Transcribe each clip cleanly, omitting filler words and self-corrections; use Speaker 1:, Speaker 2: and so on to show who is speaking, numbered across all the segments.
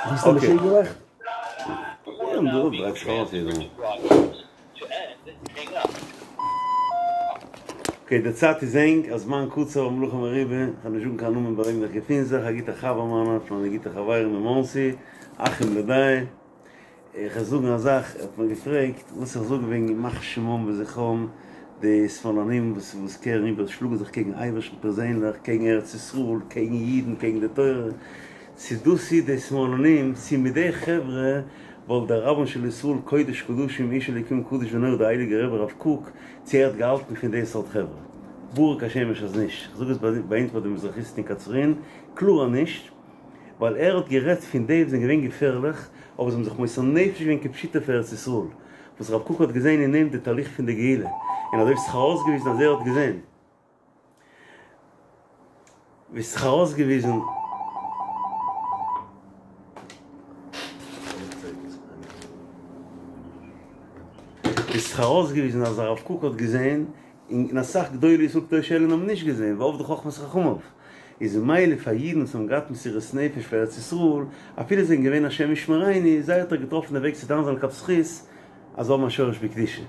Speaker 1: ביסט א
Speaker 2: אקעי.
Speaker 1: משוגע געמאכט?
Speaker 2: יא, דא דרייט זיך ארויס יעדער. אקעי, די צייט איז ענג, הזמן קצר והמלאכה מרובה, כ'וועל נישט זאגן קיין נאמען ביי וועם איך געפין זיך, א גוטע חבר מיינער, פון מיינע גוטע חברים אין מאנסי, אחים לדעה. איך וועל זאגן א זאך, ער האט מיר געפרעגט וואס איך זאג וועגן ימח שמם וזכרם, די שמאלנים וואס וואס קערן איבער, שלאגן זיך קעגן אייבערשטן פערזענליך, קעגן ארץ ישראל, קעגן אידן, קעגן די תורה, צו דאס איז די שמאלנים, צו מיט די חברה וואלט דער רבן של ישראל קודש קדשים איש אלוקים קדוש ונורא דער הייליגער רבי רב קוק, צו ער האט געהאלטן פון די סארט חברה. ברור כשמש אז נישט, איך זאג עס ביי אונז ביי די מזרחיסטן אין קצרין, קלאר אז נישט. ווייל ער האט גערעדט פון די וואס זענען געווען געפערליך, אבער זיי האבן זיך מוסר נפש געווען כפשוטו פאר ארץ ישראל, וואס רב קוק האט געזען אין אים די תהליך פון די גאולה, און אזוי ווי ס'האט זיך ארויסגעוויזן אז ער האט געזען, ווי ס'האט זיך ארויסגעוויזן. ווי ס'האט זיך ארויסגעוויזן אז הרב קוק האט געזען, און אסאך גדולי ישראל קדושי עליון האבן נישט געזען, ואבדה חכמת חכמיו. איז ממילא פאר אידן וואס האבן געהאט מסירות נפש פאר ארץ ישראל, אפילו זיי זענען געווען השם ישמרינו, זיי האט ער געטראפן די וועג צו דן זיין לכף זכות אז זיי האבן א שורש בקדושה.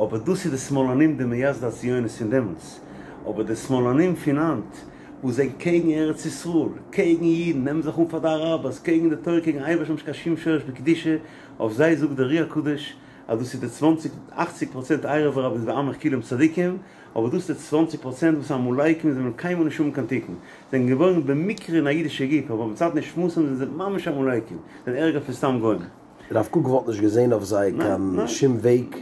Speaker 2: אבער דאס איז די שמאלנים די מייסדי הציונות פון דעמאלטס. אבער די שמאלנים פון היינט וואס זענען קעגן ארץ ישראל, קעגן אידן, נעמען זיך אן פאר די אראבערס, קעגן די תורה, קעגן אייבערשטן האבן נישט קיין שום שורש בקדושה, אויף זיי זאגט דער אר"י הקדוש אז דאס איז די צוואנציג, אכציג פראצענט ערב רב איז ועמך כולם צדיקים, אבער דאס איז די צוואנציג פראצענט וואס עמלקים זיי וועלן קיינמאל נישט האבן קיין תיקון, זענען געבוירן במקרה אין א אידישע גוף אבער מצד נשמתם זענען זיי ממש עמלקים, זענען ערגער פון סתם גוים.
Speaker 1: רב קוק וואלט נישט געזען אויף זיי קיין שום וועג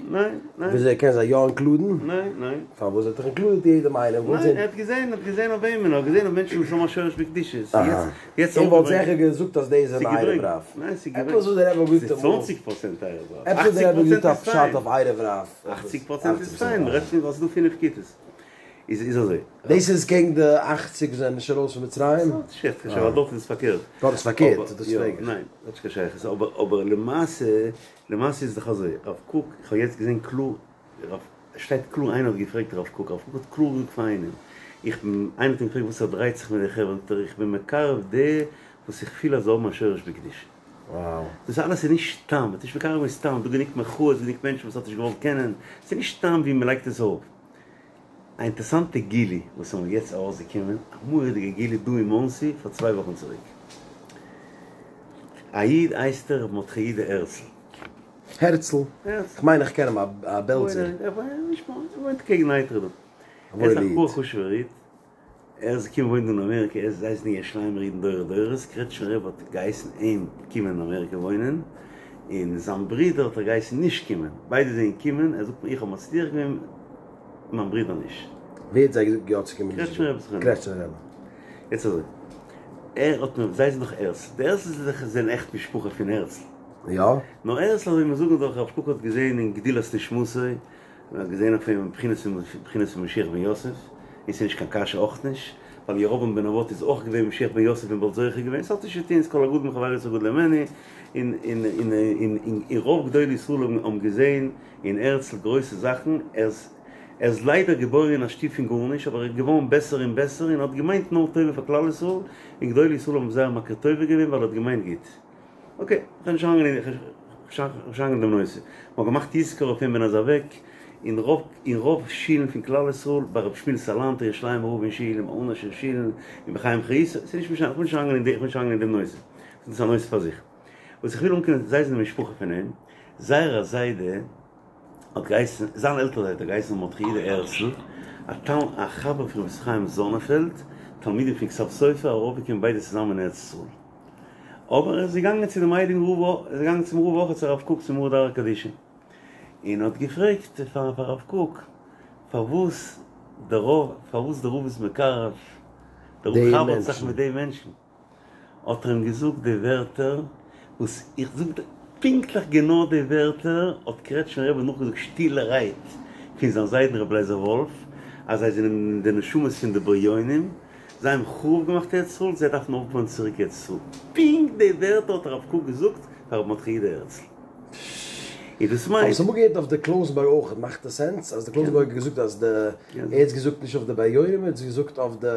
Speaker 1: וויאזוי ער קען זיי יא אינקלודן?
Speaker 2: ניין ניין.
Speaker 1: פארוואס ער האט דאך אינקלודעט יעדעם איינעם?
Speaker 2: ניין ער האט געזען ער האט געזען אויף וועמען ער האט געזען אויף מענטשן וואס האבן א שורש בקדושה.
Speaker 1: אהא. ער וואלט זיכער געזאגט אז דאס זענען ערב רב.
Speaker 2: ניין ס'איז געברענגט.
Speaker 1: עפעס וואס דער רבי האט געזאגט אמאל.
Speaker 2: ס'איז צוואנציג פראצענט ערב רב.
Speaker 1: עפעס וואס דער רבי האט געזאגט א פשט אויף ערב רב.
Speaker 2: אכציג פראצענט איז פיין, מ'רעדט פון ווייל ס'איז דא פינף כיתות. איז איז אזוי.
Speaker 1: דאס איז קעגן די אכציג וואס זענען נישט ארויס פון מצרים?
Speaker 2: ס'האט נישט קיין שייכות, ווייל דארט איז עס פארקערט.
Speaker 1: דארט איז פארקערט, דאס פרעג איך.
Speaker 2: ניין, ס'האט נישט קיין שייכות, אבער אבער למעשה, למעשה איז דאך אזוי, רב קוק, איך האב יעצט געזען קלאר, רב, שטייט קלאר איינער האט געפרעגט רב קוק, רב קוק האט קלאר געזאגט פאר איינעם, איך בין, איינער האט אים געפרעגט וואס ער דרייט זיך מיט די חברה, זאגט ער איך בין מקרב די וואס איך פיל אז זיי האבן א שורש בקדושה. דאס אלעס איז נישט סתם, מ'האט נישט מקרב געווען סתם, דא גענוג מחאות, גענוג מענטשן וואס האט נישט געוואלט קענען, ס'איז נישט סתם ווי מ'לייגט עס אויף. א אינטערסאנטע גילוי וואס איז מיר יעצט ארויסגעקומען, א מורא'דיגע גילוי דא אין מאנסי פאר צוויי וואכן צוריק. א איד הייסט ער ר' מרדכי יודא הערצל.
Speaker 1: הערצל? כ'מיין איך קען אים, א בעלזער.
Speaker 2: ער וואוינט קעגן נייטרא דא. ער איז א גאר חשוב'ער איד. ער איז געקומען וואוינען דא אין אמעריקע, ער איז זיי זענען ירושלימ'ער אידן דורי דורות, קרעטשניפער רב האט געהייסן אים קומען אין אמעריקע וואוינען, און זיין ברודער האט ער געהייסן נישט קומען, ביידע זענען געקומען, ער זאגט מיר איך האב מצליח געווען, מיין ברודער נישט.
Speaker 1: ווער האט זיי געזאגט יא צו קומען?
Speaker 2: קרעטשניפער רב זכרונו.
Speaker 1: קרעטשניפער רבי.
Speaker 2: יעצט אזוי, ער האט מיר, זיי זענען דאך הערצל, די הערצלס זענען עכט משפחה פון הערצל.
Speaker 1: יא?
Speaker 2: נאר הערצל אזוי ווי מיר זאגן דאך הרב קוק האט געזען אין גדולת נשמתו, מען האט געזען אויף אים בחינת בחינת פון משיח בן יוסף, און ס'איז נישט קיין קשיא אויך נישט, ווייל ירבעם בן נבט איז אויך געווען משיח בן יוסף און באלד זוכה געווען, ס'האט נישט צו טון, ס'כל הגדול מחברו יותר גדול הימנו, און און און און און רוב גדולי ישראל האבן האבן געזען אין הערצל גרויסע זאכן, ער איז ער איז ליידער געבוירן אין א שטוב פון גארנישט, אבער ער איז געווארן בעסער און בעסער און האט געמיינט נאר טובה פאר כלל ישראל, און גדולי ישראל האבן זייער מכיר טובה געווען ווייל ער האט געמיינט גוט. אקעי, כ'גיי נישט אריינגיין אין דעם נושא. מ'האט געמאכט יזכור אויף אים ווען ער איז אוועק, אין רוב אין רוב שילן פון כלל ישראל, ביי רבי שמואל סאלאנטער ירושלימ'ער רב אין שול, אין אונגארישע שילן, און בחיים חיותו, ס'איז נישט משנה, כ'וויל נישט אריינגיין אין נישט אריינגיין אין דעם נושא, דאס איז א נושא פאר זיך. וואס איך וויל אנקומען, זיי זענען משפחה פון אים, זייער א זיידע האט געהייסן, זיין עלטער זיידע האט געהייסן מרדכי יודא הערצל, א תל א חבר פון רבי ישראל חיים זאנענפעלד, תלמידים פון כתב סופר, ארויפגעקומען ביידע צוזאמען אין ארץ ישראל. אבער ער איז געגאנגען צו דעם הייליגן רב, ער איז געגאנגען צום רב אויך צו הרב קוק צום מרא דאתרא קדישא, און האט געפרעגט פאר הרב קוק פארוואס דער רב, פארוואס דער רב איז מקרב, דער רב חבר'ט זיך מיט די מענטשן, האט ער אים געזאגט די ווערטער וואס איך זאג דיר פונקטליך גענוי די ווערטער האט קרעטשמער רבי נאכגעזאגט שטילערהייט פון זיין זיידן רבי לייזער וואלף, אז זיי זענען די נשמות פון די בריונים. זיי האבן חרוב געמאכט ארץ ישראל, זיי דארפן אויפבויען צוריק ארץ ישראל. פונקט די ווערטער האט הרב קוק געזאגט פאר רבי מרדכי יודא הערצל. און דאס מיינט.
Speaker 1: כ'האב עס אמאל געהערט אויף די קלויזנבורג אויך, מאכט עס סענס אז די קלויזנבורגער האט געזאגט אז די, ער האט עס געזאגט נישט אויף די בריונים, ער האט עס געזאגט אויף די.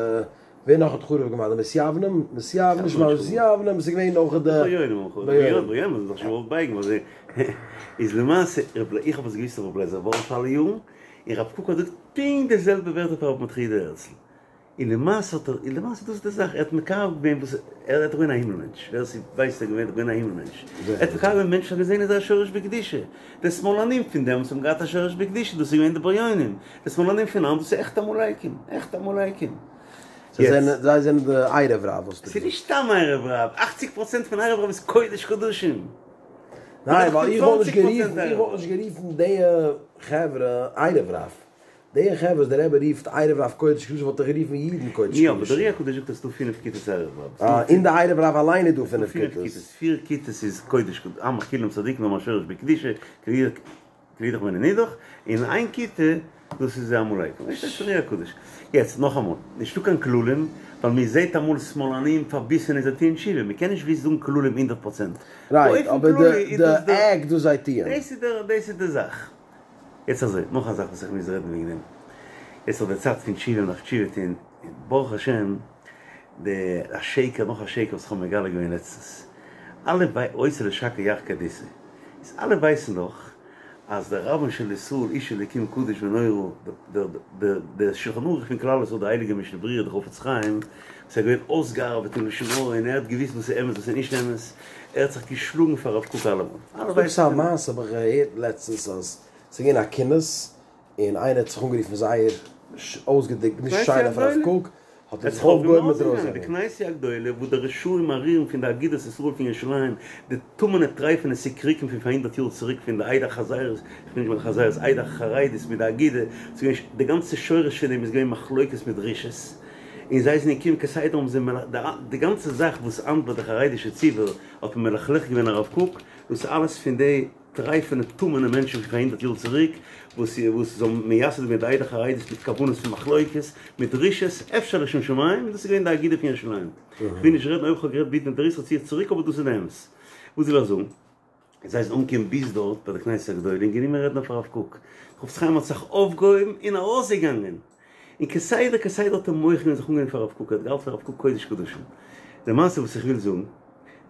Speaker 1: ווער נאך האט חרוב געמאכט? די מתיוונים? מתיוונים, נישט ממש מתיוונים, ס'איז געווען אויך די.
Speaker 2: בריונים האבן חרוב געמאכט, בריונים האבן זיך נישט געוואלט בייגן ווייל זיי איז למעשה איך האב עס געוויסט אויף רבי לייזער וואלף אלע יארן, און רב קוק האט געזאגט פונקט די זעלבע ווערטער פאר רבי מרדכי יהודה הערצל. און למעשה האט ער, און למעשה דאס איז די זאך, ער האט מקרב געווען וואס, ער איז געווען א הימל מענטש, ווער ס'ווייסט ער איז געווען א הימל מענטש, ער האט מקרב געווען מענטשן האט געזען איז א שורש בקדושה, די שמאלנים פון דעמאלטס האבן געהאט א שורש בקדושה, דאס איז געווען די בריונים, די שמאלנים פון היינט דאס איז עכטע עמלקים, עכטע עמלקים.
Speaker 1: זיי זענען, זיי זענען די ערב רב וואס דו
Speaker 2: ס'איז נישט סתם ערב רב, אכציג פראצענט פון ערב רב איז קודש קדשים.
Speaker 1: ניין ווייל איך וואלט נישט גערופן, איך וואלט נישט גערופן די חברה ערב רב. די חברה וואס דער רבי רופט ערב רב קודש קדשים וואלט איך גערופן אידן קודש
Speaker 2: קדשים. יא אבער דער אר"י הקדוש זאגט אז ס'דא פינף כיתות ערב רב.
Speaker 1: אה, אין די ערב רב אליין איז דא פינף כיתות.
Speaker 2: פיר כיתות איז קודש קדשים, עמך כולם צדיקים האבן א שורש בקדושה, כלי אידך ואינו נידח, און איין כיתה דאס איז עמלקים. דאס איז אר"י הקדוש. יעצט נאכאמאל, נישטא קיין כללים, ווייל מען זעט אמאל שמאלנים פארביסענע זיי טוען תשובה, מען קען נישט ווי זאגן כללים הונדערט פראצענט.
Speaker 1: רייט, אבער די עקט וואס זיי טוען.
Speaker 2: דאס איז די זאך. יעצט אזוי, נאך א זאך וואס איך מוז רעדן וועגן דעם, יעצט איז די צייט פון תשובה מ'דארף תשובה טון, ברוך השם די א שקר נאך א שקר וואס איך האב מגלה געווען לעצטנס, אלע וויי עושה לשקר יחקר דיסא, איז אלע ווייסן דאך אז דער רבן של ישראל איש אלוקים קדוש ונורא דער דער דער שלחן ערוך פון כלל ישראל דער הייליגער משנה ברורה דער חפץ חיים וואס איז געווען אויסגעארבעט אין לשון הרע און ער האט געוויסט וואס איז אמת וואס איז נישט אמת, ער האט זיך געשלאגן פאר הרב קוק אלעמאל.
Speaker 1: אלע ווייסן א מעשה האב איך געהערט לעצטנס אז ס'איז געווען א כינוס און איינער האט זיך אנגערופן זייער אויסגעדרוקט נישט שיין אויף הרב קוק, האט ער זיך אויפגעהויבן מיט
Speaker 2: ארויסגעגאנגען. די כנסיה הגדולה וואו די רשעים ארורים פון די אגודת ישראל פון ירושלים, די טמא'נע טרייפענע סיקריקים פון פאר הונדערט יאר צוריק פון די עדה החזירית, כ'מיין נישט מיט חזירות, עדה החרדית מיט די אגודה, ס'איז געווען די גאנצע שורש פון דעם איז געווען מחלוקת מיט רשעות, און זיי זענען געקומען כסדר האבן זיי די גאנצע זאך וואס היינט ביי די חרדישע ציבור האט מען מלכלך געווען הרב קוק, דאס איז אלעס פון די טרייפענע טמא'נע מענטשן פון פאר הונדערט יאר צוריק וואס וואס זיי האבן מייסד געווען די עדה החרדית מיט כוונות פון מחלוקת מיט רשעות אפשר לשם שמים, דאס איז געווען די אגודה פון ירושלים. כ'וויל נישט רעדן אויב כ'האב גערעדט ביטע אינטערעס צי איך צוריק אבער דאס איז די אמת. וואס וויל איך זאגן? זיי זענען אנגעקומען ביז דארט ביי די כנסת הגדולה און גענומען רעדן אויף הרב קוק. חפץ חיים האט זיך אויפגעהויבן און ארויסגעגאנגען. און כסדר כסדר האט ער מוחה געווען זיך אנגענומען פאר הרב קוק, ער האט געהאלטן פון הרב קוק קודש קדשים. די מעשה וואס איך וויל זאגן,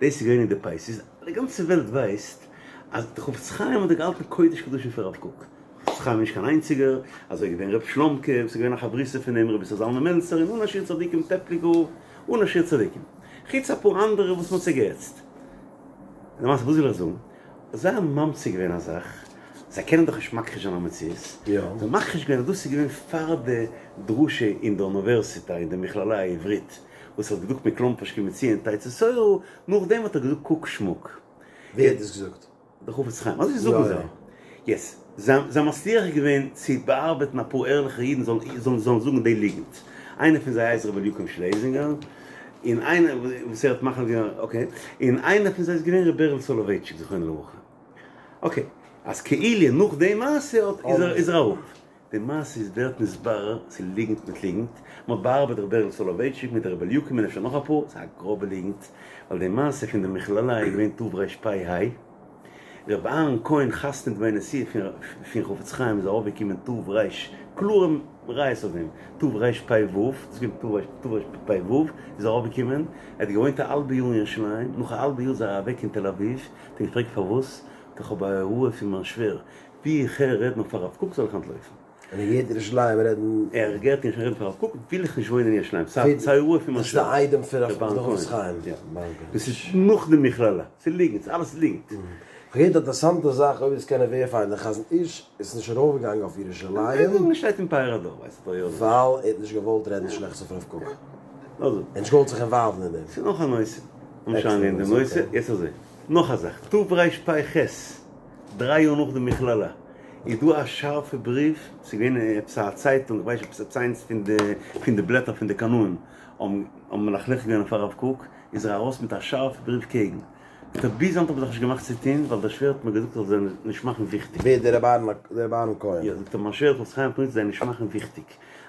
Speaker 2: דאס איז געווען אין די פייסיס, די גאנצע וועלט ווייסט אז די חפץ חיים האט געהאלטן קודש קדשים פאר הרב קוק. חפץ חיים איז נישט קיין איינציגער, אזוי איז געווען ר' שלומ'קע וואס איז געווען א חברותא פון אים, ר' איסר זלמן מעלצער און אן א שיעור צדיקים, טעפליקער רב, אן א שיעור צדיקים. חוץ אפאר אנדערע וואס מ'האט צוגעהעצט. למעשה וואס וויל איך זאגן? זיי האבן ממציא געווען א זאך, זיי קענען דאך נישט מכחיש זיין א מציאות, זיי האבן מכחיש געווען אז דאס איז געווען פאר די דרשה אין די אוניווערסיטא אין די מכללה העברית וואס ער האט געזאגט מכלומפערשט כי מציון תצא תורה, נאכדעם האט ער געזאגט קוק שמוק.
Speaker 1: ווער האט דאס געזאגט?
Speaker 2: דער חפץ חיים, אזוי זאגן זיי. יעצט, זיי האבן מצליח געווען צו באארבעטן אפאר ערליכע אידן זאלן זאלן זאגן די ליגנט. איינער פון זיי הייסט ר' אליקים שלעזינגער, און איינער וואס ער האט מחליט געווען, אקעי, און איינער פון זיי איז געווען ר' בערל סאלאווייטשיק זכרונו לברכה. אקעי, אז כאילו נאך די מעשה האט איז ער איז ער אראפ. די מעשה איז ווערט נתברר, ס'איז ליגנט מיט ליגנט, מ'האט באארבעט ר' בערל סאלאווייטשיק מיט ר' אליקים און אפשר נאך אפאר, ס'איז א גראבע ליגנט, ווייל די מעשה פון די מכללה איז געווען תרפ"ה, ר' אהרן כהן חתן דמי נשיאה פון חפץ חיים איז ארויפגעקומען תר, קלארע ראיות אויף דעם, תרפ"ו, דאס איז געווען תרפ"ו, איז ער ארויפגעקומען, ער האט געוואוינט א האלבע יאר אין ירושלים, נאך א האלבע יאר איז ער אוועק אין תל אביב, האט ער געפרעגט פארוואס, זאגט ער כ'האב א הוראה פון מיין שווער, ווי איך הער רעדן אויף הרב קוק זאל איך אנטלויפן.
Speaker 1: און ער געהערט ירושלים רעדן.
Speaker 2: ער געהערט ירושלים רעדן אויף הרב קוק וויל איך נישט וואוינען אין ירושלים ס'איז א הוראה פון מיין
Speaker 1: דאס איז די איידעם פון רב חפץ חיים.
Speaker 2: דאס איז נאך די מכללה. ס'איז ליגנט. ס'איז אלעס ליגנט.
Speaker 1: כ'האב געהערט א אינטערעסאנטע זאך אויב דאס קען ער וועריפייען דער חזון איש איז נישט ארויפגעגאנגען אויף ירושלים.
Speaker 2: שטייט אין פאר הדור ווייסט
Speaker 1: ווייל ער האט נישט געוואלט רעדן שלעכטס אויף הרב קוק. ער האט נישט געוואלט זיך אינוואלוון אין דעם.
Speaker 2: ס'איז נאך א נושא. לאמיר שוין אריינגיין אין די נושא. יעצט אזוי. נאך א זאך. תרפ"ח. דריי יאר נאך די מכללה איז דא א שארפע בריוו, ס'איז געווען אין עפעס א צייטונג, איך ווייס נישט עפעס איינס פון די פון די בלעטער פון די קנאים האבן האבן מלכלך געווען אויף הרב קוק, איז ער ארויס מיט א שארפע בריוו קעגן. זאגט ער ביז היינט האב איך זיך נישט געמאכט צו טון ווייל דער שווער האט מיר געזאגט איך זאל זיי נישט מאכן וויכטיג.
Speaker 1: ווער דער רבי אהרן דער רבי אהרן כהן?
Speaker 2: יא, זאגט ער מיין שווער חפץ חיים האט מיר געזאגט זיי נישט מאכן וויכטיג.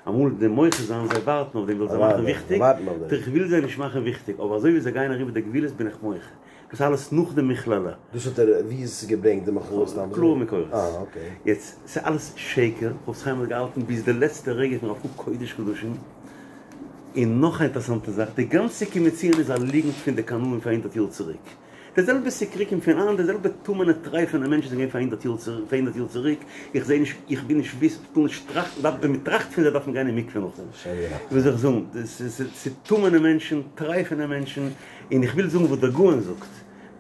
Speaker 2: אמאל די מוחה זיין זיי ווארטן אויף דעם וויל זיי מאכן וויכטיג, זאגט ער איך וויל זיי נישט מאכן וויכטיג אבער אזוי ווי זיי גייען אריבער די גבולות בין איך מוחה. דאס איז אלעס נאך די מכללה.
Speaker 1: דאס האט ער, ווי איז עס געברענגט די מחאות סתם אזוי?
Speaker 2: קלארע מקורות.
Speaker 1: אה אקעי.
Speaker 2: יעצט, ס'איז אלעס שקר, חפץ חיים האט געהאלטן ביז די לעצטע רגע פון הרב קוק קודש קדשים. און נאך א אינטערעסאנטע זאך, די גאנצע כי מציון איז א ליגנט פון די קנאים פאר הונדערט יאר צוריק. די זעלבע סיקריקים פון היינט, די זעלבע טמא'נע טרייפענע מענטשן זענען געווען פאר הונדערט יאר פאר הונדערט יאר צוריק, איך זעה נישט, איך וויל נישט וויסן, איך טאר נישט טראכטן, דארף, ווען מען טראכט פון זיי דארף מען גיין אין מקווה נאכדעם. וואס זאל איך זאגן, ס'איז טמא'נע מענטשן, טרייפענע מענטשן, און איך וויל זאגן וואס דער גאון זאגט,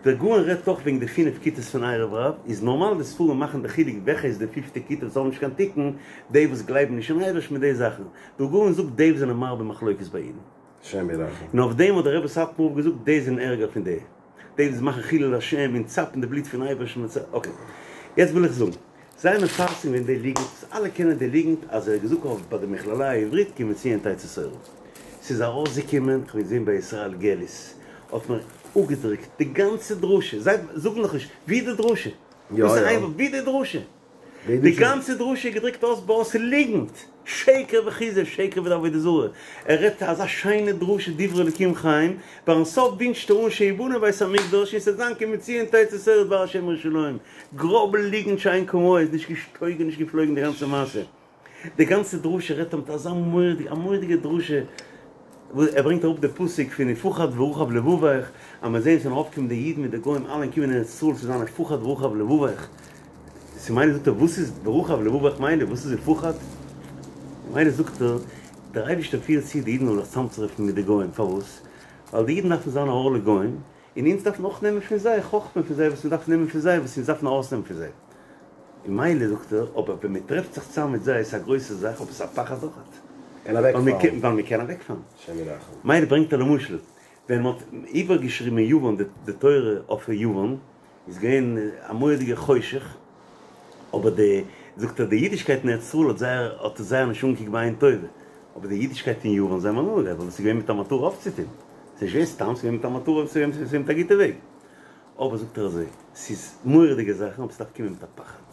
Speaker 2: דער גאון רעדט אויך וועגן די פינף כיתות פון ערב רב, איז נארמאל די ספרים מאכן די חילוק וועלכע איז די פיפטע כיתה וואס האבן נישט קיין תיקון, די וואס גלייבן נישט אין אייבערשטן מיט די זאכן, דער גאון זאגט די וואס זענען מרבה מחלוקת ביי אידן.
Speaker 1: השם ירחם.
Speaker 2: און אויף דעם האט דער רבי סאטמאר רב געזאגט די זענען ערגער פון די, די וואס מאכן חילול השם און צאפן די בלוט פון אייבערשטן מיט אקעי. יעצט וויל איך זאגן, זיי האבן מפרסם געווען די ליגנט, וואס אלע קענען די ליגנט, אז ער האט געזאגט אויף ביי די מכללה העברית כי מציון תצא תורה. ס'איז ארויסגעקומען, כ'האב געזען ביי ישראל געליס האט מען אפגעדרוקט די גאנצע דרשה, זיי זאגן נאך נישט ווי די דרשה,
Speaker 1: יא יא.
Speaker 2: ווי די דרשה? די גאנצע דרשה איז געדרוקט אות באות ליגנט, שקר וכזב, שקר ועבודה זרה, ער רעדט אזא שיינע דרשה דברי אלקים חיים, ביים סוף ווינטשט ער אן שיבנה בית המקדש און ס'וועט זיין כי מציון תצא תורה דבר השם ירושלים, גראבע ליגנט שאין כמוה, איז נישט געשטויגן נישט געפלויגן די גאנצע מעשה. די גאנצע דרשה רעדט ער מיט אזא מורא'דיגע א מורא'דיגע דרשה וואס ער ברענגט אראפ די פסוק פון ופחד ורחב לבבך אז מ'וועט זען ס'וועלן ארויפקומען די אידן מיט די גוים אלע קומען אין ארץ ישראל צו זיין ופחד ורחב לבבך ס'איז מילא זאגט ער וואס איז ורחב לבבך מילא וואס איז ופחד מילא זאגט ער דער אייבערשטער פירט צו די אידן זאלן זיך צאמצוטרעפן מיט די גוים פארוואס ווייל די אידן דארפן זיין א אור לגוים און אונז דארפן אויך נעמען פון זיי חכמה פון זיי וואס מ'דארף נעמען פון זיי וואס אונז דארפן ארויסנעמען פון זיי. און מילא זאגט ער, אבער ווען מ'טרעפט זיך צאם מיט זיי איז עס א גרויסע זאך אבער עס איז א פחד אויכעט.
Speaker 1: קען אוועקפאלן.
Speaker 2: ווייל מ'קען אוועקפאלן.
Speaker 1: השם ירחם.
Speaker 2: מילא ברענגט ער למשל, ווען מ'האט איבערגעשריבן אין יוון די תורה אויף יוון, איז געווען א מורא'דיגע חושך, אבער די, זאגט ער, די אידישקייט אין ארץ ישראל האט זייער, האט עס זייער נישט אנגעקוקט בעין טובה, אבער די אידישקייט אין יוון זיי האבן הנאה געהאט ווייל עס איז געווען מיט א מטרה אויפצוטון. ס'איז נישט געווען סתם, ס'איז געווען מיט א מטרה, ס'איז געווען מיט א גוטע וועג. אבער זאגט ער אזוי, ס'איז מורא'דיגע זאכן, אבער ס'דארף קומען מיט א פחד.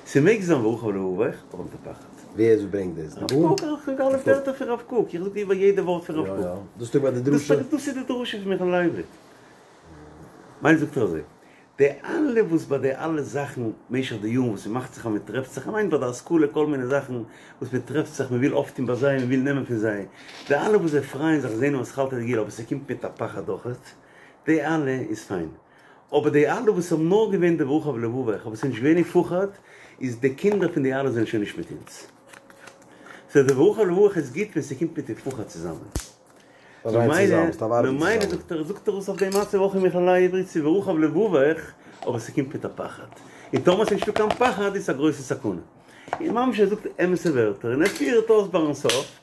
Speaker 2: ס'מעג זיין ורחב לבבך, אבער מיט א פחד.
Speaker 1: ווער איז וואס ברענגט דאס?
Speaker 2: הרב קוק, איך זאג אלע ווערטער פון הרב קוק, איך זאג איבער יעדע ווארט פון הרב קוק.
Speaker 1: יא יא, דאס איז ביי די דרשה.
Speaker 2: דאס איז די דרשה פון מכללה העברית. מילא זאגט ער אזוי, די אלע וואס ביי די אלע זאכן משך די יארן וואס ס'מאכט זיך אז מ'טרעפט זיך, כ'מיין ביי די השכלה כל מיני זאכן וואס מ'טרעפט זיך מ'וויל אויפטון ביי זיי מ'וויל נעמען פון זיי, די אלע וואס זיי פרייען זיך זעהן אתחלתא דגאולה אבער ס'קומט מיט א פחד אויכעט, די אלע איז פיין. אבער די אלע וואס האבן נאר געווען די ורחב לבבך אבער ס'איז נישט געווען ופחד, איז די קינדער פון די אלע זענען שוין נישט מיט אונז. סאו די ורחב לבבך איז גוט ווען ס'קומט מיט ופחד צוזאמען. ממילא זאגט ער, זאגט ער עס אויף די מצב אויך אין מכללה העברית ס'איז ורחב לבבך, אבער ס'קומט מיט א פחד, און טאמער ס'איז נישטא קיין פחד איז עס א גרויסע סכנה. און ממש ער זאגט אמת'ע ווערטער, און ער פירט אויס ביים סוף,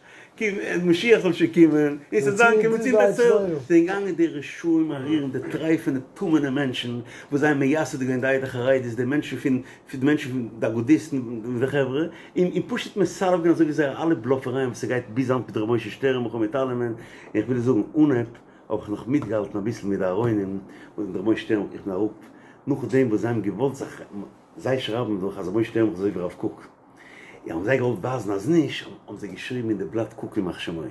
Speaker 2: משיח זאל שוין קומען, און ס'זאל זיין כי מציון תצא תורה. זענען געגאנגען די רשעים ארורים די טרייפענע טמא'נע מענטשן וואס זיי האבן מייסד געווען די עדה החרדית, די מענטשן פון די מענטשן פון די אגודיסטן און די חברה, און און פשוט מסלף געווען אזוי ווי זייערע אלע בלאפערייען וואס ס'גייט ביז היינט מיט ר' משה שטערנבוך און מיט אלעמען, און איך וויל זאגן, אנהייב האב איך נאך מיטגעהאלטן אביסל מיט די אהרונים און מיט ר' משה שטערנבוך, איך בין אראפ נאכדעם וואס זיי האבן געוואלט זיך, זיי שרייבן דאך אז ר' משה שטערנבוך איז אזוי ווי הרב קוק. און האבן זיי געוואלט ווייזן אז נישט, האבן זיי געשריבן אין די בלאט קוק ימח שמו.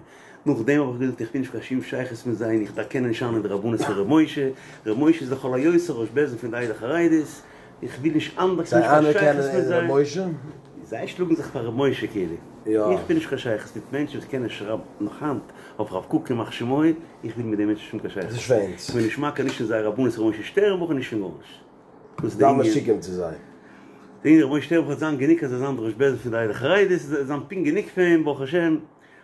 Speaker 2: נאכדעם האב איך געזאגט איך בין נישט קיין שום שייכות מיט זיי און איך דערקען נישט איין אין די רבנות פון ר' משה, ר' משה איז לכל היותר ראש בית דין פון די עדה החרדית, איך וויל נישט אנדערש
Speaker 1: זיי
Speaker 2: נישט קיין שייכות
Speaker 1: אנערקענען
Speaker 2: מיט
Speaker 1: אין
Speaker 2: זיי.
Speaker 1: ר' משה?
Speaker 2: זיי שלאגן זיך פאר ר' משה כאילו.
Speaker 1: יא.
Speaker 2: איך בין נישט קיין שייכות מיט מענטשן וואס קענען שרייבן נאך היינט אויף הרב קוק ימח שמו, איך וויל מיט די מענטשן נישט האבן קיין שייכות.
Speaker 1: דאס איז שווענץ.
Speaker 2: איך בין נישט מכיר נישט אין זייער רבנות ר' משה שטערנבוך און נישט פון גארנישט. דאס איז די
Speaker 1: זיי
Speaker 2: ענין.
Speaker 1: משוגעים צו זיי.
Speaker 2: די ענין ר' משה שטערנבוך וועט זיין גענוג אז ער זיין דער ראש בית דין פון די עדה החרדית, עס וועט זיין פונקט גענוג פאר אים ברוך השם,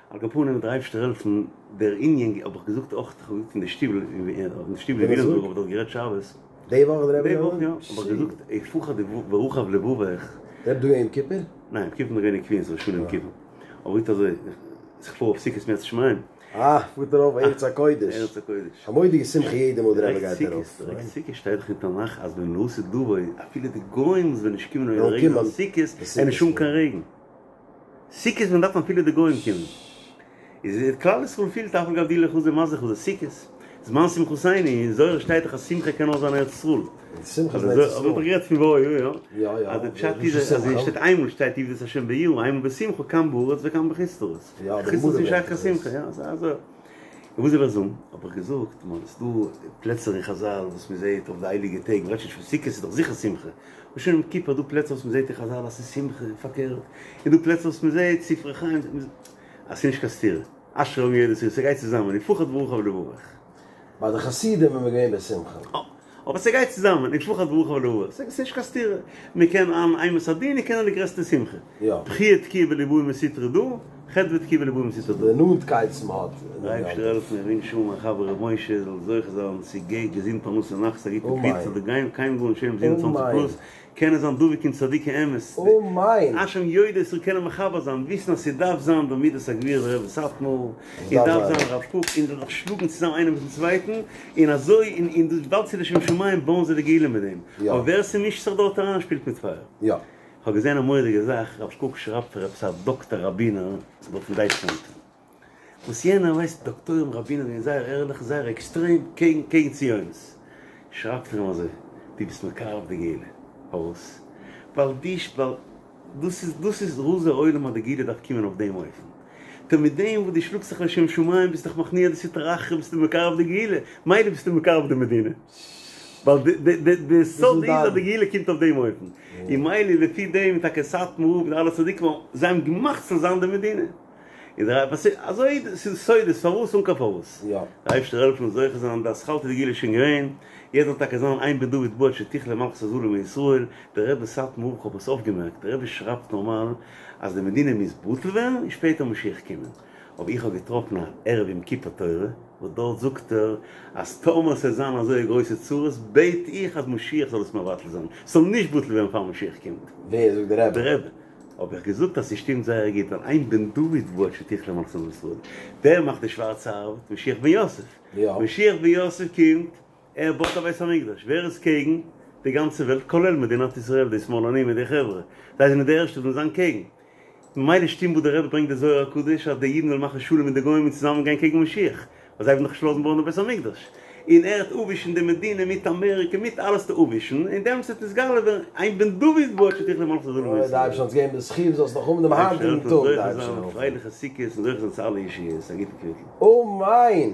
Speaker 2: על כל פנים וועט דער אייבערשטער העלפן, דער ענין האב איך געזאגט אויך, איך האב געזאגט אין די שטיבל, אין די שטיבל אין וויליאמסבורג האב איך דארט גערעדט שבת.
Speaker 1: די וואך דער רבי
Speaker 2: די וואך יא, האב איך געזאגט ופחד ורחב לבבך.
Speaker 1: דער רבי דא יום כיפור?
Speaker 2: ניין, יום כיפור בין איך געווען אין קווינס ראש השנה יום כיפור. אבער גוט אזוי, איך פאר אויף סוכות אם ירצה השם.
Speaker 1: אה, פארט ארויף ארץ הקודש.
Speaker 2: ארץ הקודש.
Speaker 1: א מורא'דיגע שמחה יעדע מאל דער רבי גייט ארויף.
Speaker 2: דירעקט סוכות שטייט דאך אין תנך אז ווען לעתיד לבוא אפילו די גוים וואס וועלן נישט קומען אויף די רעגן אויף סוכות וועט נישט האבן קיין רעגן. סוכות ווען דארפן אפילו די גוים קומען. איז כלל ישראל פילט אף על גב דאילו חזו מזלא חזו סוכות. זמן שמחתינו, אין זוהר שטייט דאך אז שמחה קען נאר זיין ארץ ישראל.
Speaker 1: שמחה איז ארץ ישראל.
Speaker 2: האב איך גערעדט פון והיה יא.
Speaker 1: יא יא.
Speaker 2: אז די פשט איז אז עס שטייט איינמאל שטייט עבדו את השם ביראה איינמאל בשמחה כאן בארץ וכאן בחוץ לארץ.
Speaker 1: יא, די
Speaker 2: חוץ
Speaker 1: גמרא
Speaker 2: לארץ איז נישט
Speaker 1: ברענגט
Speaker 2: שייך קיין
Speaker 1: עס.
Speaker 2: שמחה, יא, אזוי אזוי. און וואס זאל איך זאגן? האב איך געזאגט, מען, ס'דא פלעצער אין חזל וואס מען זעט אויף די הייליגע טעג, מען רעדט שוין נישט פון סוכות איז דאך זיכער שמחה, און שוין יום כיפור דא פלעצער וואס מען זעט אין חזל אז ס'איז שמחה און פארקערט, און דא פלעצער וואס מען זעט ספרי חיים אז ס'איז נישט קיין סתירה. אשרי העם יודעי תרועה, ס'גייט צוזאמען, ופחד ברכה ולברך.
Speaker 1: ביי די חסידים איז מען געווען בשמחה.
Speaker 2: אה, אבער ס'גייט צוזאמען, ופחד ברכה ולברך, ס'איז נישט קיין סתירה, מ'קען האבן אימת הדין און קען האבן די גרעסטע שמחה.
Speaker 1: יא.
Speaker 2: בכיה תקיעה וליבאי מסטרא דא, חדוה תקיעה וליבאי מסטרא דא.
Speaker 1: די נאנטקייט וואס מ'האט
Speaker 2: דער אייבערשטער העלפן איך ווינטש אן מיין חבר ר' משה זאל זוכה זיין צו גע געזונט פרנסה נחת א גוטע קביעות זאל גיין קיין גאון שם 27 פלוס קענען זיין דבוק אין צדיקי אמת
Speaker 1: אמן!
Speaker 2: אשרי העם יודעי תרועה קענען מחבר זיין וויסן אז ס'דארף זיין דער מידת הגבורה דער רבי סאטמאר און דארף זיין הרב קוק און זיך שלאגן צוזאם איינער מיטן צווייטן און אזוי און און דאס וויבאלד ס'איז לשם שמים בויען זיי די גאולה מיט דעם אבער ווער ס'מישט זיך דארט אריין שפילט מיט פייער.
Speaker 1: יא.
Speaker 2: כ'האב געזען א מורא'דיגע זאך, הרב קוק שרייבט פאר עפעס א דאקטער ראבינער דארט אין דייטשלאנד, וואס יענער ווייסט דאקטוירים ראבינער זענען זייער ערליך זייער עקסטרעם קעגן קעגן ציונות, שרייבט ער אים אזוי, דו ביסט מקרב די גאולה, פארוואס? ווייל די ווייל דאס איז דאס איז רזי עולם אז די גאולה דארף קומען אויף דעם אופן, טא מיט דעם וואס דו שלאגסט זיך לשם שמים ביסט דאך מכניע די סטרא אחרא ביסטו מקרב די גאולה, מילא ביסטו מקרב די מדינה. ווייל די סוד איז אז די גאולה קומט אויף דעם אופן, און מילא לפי דעם איז טאקע סאטמאר רב און אלע צדיקים זיי האבן געמאכט ס'זאל זיין די מדינה, און דער אייבערשטער אזוי ס'איז סודות פארוואס אן קיין פארוואס, דער אייבערשטער העלפן זוכה זיין די אתחלתא דגאולה איז שוין געווען, יעצט זאל טאקע זיין אין בן דוד בא עד שתכלה מלכות הזרים מישראל, דער רבי סאטמאר רב כ'האב עס אויפגעמערקט, דער רבי שרייבט נארמאל אז די מדינה מוז בטל ווערן און שפעטער משיח קומען. אבער איך האב געטראפן א ערב יום כיפור תורה וואס דארט זאגט ער אז טאמער ס'וועט זיין אזוי גרויסע צרות בעט איך אז משיח זאל עס מבטל זיין, ס'זאל נישט בטל ווערן פאר משיח קומט.
Speaker 1: ווער זאגט? דער רבי?
Speaker 2: דער רבי. האב איך געזאגט אז ס'שטימט זייער גוט ווייל אין בן דוד בא עד שתכלה מלכות ישראל. ווער מאכט די שווארצע ארבעט? משיח בן יוסף. משיח בן יוסף קומט, ער בויט א בית המקדש. ווער איז קעגן? די גאנצע וועלט כולל מדינת ישראל, די שמאלנים מיט די חברה. זיי זענען די ערשטע וואס וועלן זיין קעגן. ממילא שטימט וואס דער רבי ברענגט די זוהר הקדוש אז די אידן וועלן מאכן שלום מיט די גוים און צוזאמען גיין קעגן משיח, ווייל זיי וועלן דאך נישט לאזן בויען די בית המקדש, און ער וועט אפווישן די מדינה מיט אמעריקע מיט אלעס צו אפווישן, און דעמאלטס וועט נתגלה ווערן אין בן דוד בא עד שתכלה מלכות הזרים
Speaker 1: אוי די אייבערשטער זאל אונז געבן די זכי' זאלסט נאך האבן דעם היינטיגן טאג די
Speaker 2: אייבערשטער זאל העלפן פרייליכע סוכות און זוכה זיין צו אלע ישועות, א גוטן קוויטל.
Speaker 1: אמן!